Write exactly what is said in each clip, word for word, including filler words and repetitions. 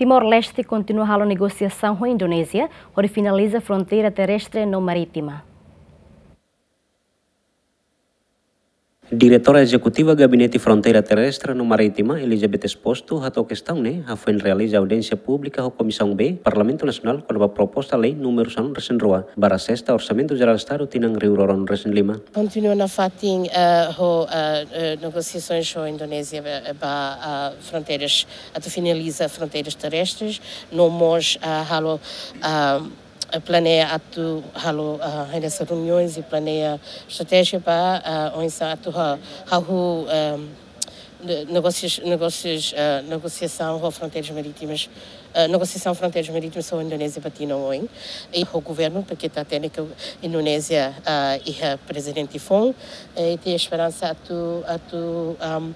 Timor-Leste kontinua halo negosiasaun ho Indonézia hodi finaliza fronteira terrestre no marítima. Diretora Ezekutiva Gabinete Fronteira Terrestre no Marítima, Elizabeth Exposto, hato'o kestaun ne'e hafoin realiza audiénsia públika ho Komisaun B, Parlamentu Nasionál, kona-ba proposta lei númeru sanulu-resin-rua, barra sesta Orsamentu Jerál Estadu tinan rihun rua ruanulu-resin-lima. Kontinua nafatin, eh, ho, eh, eh, negosiasoens ho Indonézia ba, ba, eh, fronteiras, atu finaliza fronteiras terrestres, no mós, eh, halo, eh, planeia atu halo, eh, hanesan reuniões i planeia estratéjia ba, eh, oinsá atu ha-, hahú, eh, ne-, negósius, negósius, eh, negosiasaun ho fronteiras marítimas, eh, negosiasaun fronteiras marítimas ho Indonézia ba tinan oin. I ho governu, tanba ita hatene katak Indonézia, eh, iha prezidente foun, eh, i iha esperansa atu, atu, am,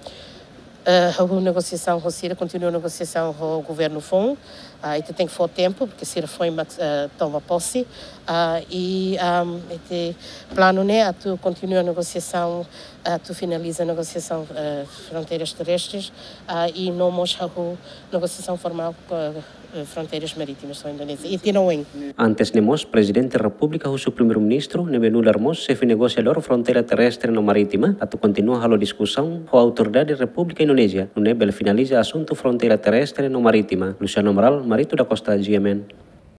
eh, hahú negosiasaun ho sira, kontinua negosiasaun ho governu foun. Ah, ita tenke fó tempu, porque sira foin mak, eh, toma posse. Ah, i, am, ita planu ne'e atu kontinua negosiasaun, atu finaliza negosiasaun, eh, fronteiras terrestres, ah, i no mós hahú negosiasaun formál ho, eh, fronteiras marítimas ho Indonézia. I tinan oin. Antes ne'e mós, Prezidente Repúblika husu Primeiru-Ministru, ne'ebé nu'udar mós xefe negosiadór fronteira terrestre no marítima, atu kontinua halo diskusaun ho autoridade Repúblika Indonézia, nune'e bele finaliza asuntu fronteira terrestre no marítima. Luciano Amaral, Marito da Costa, G M N.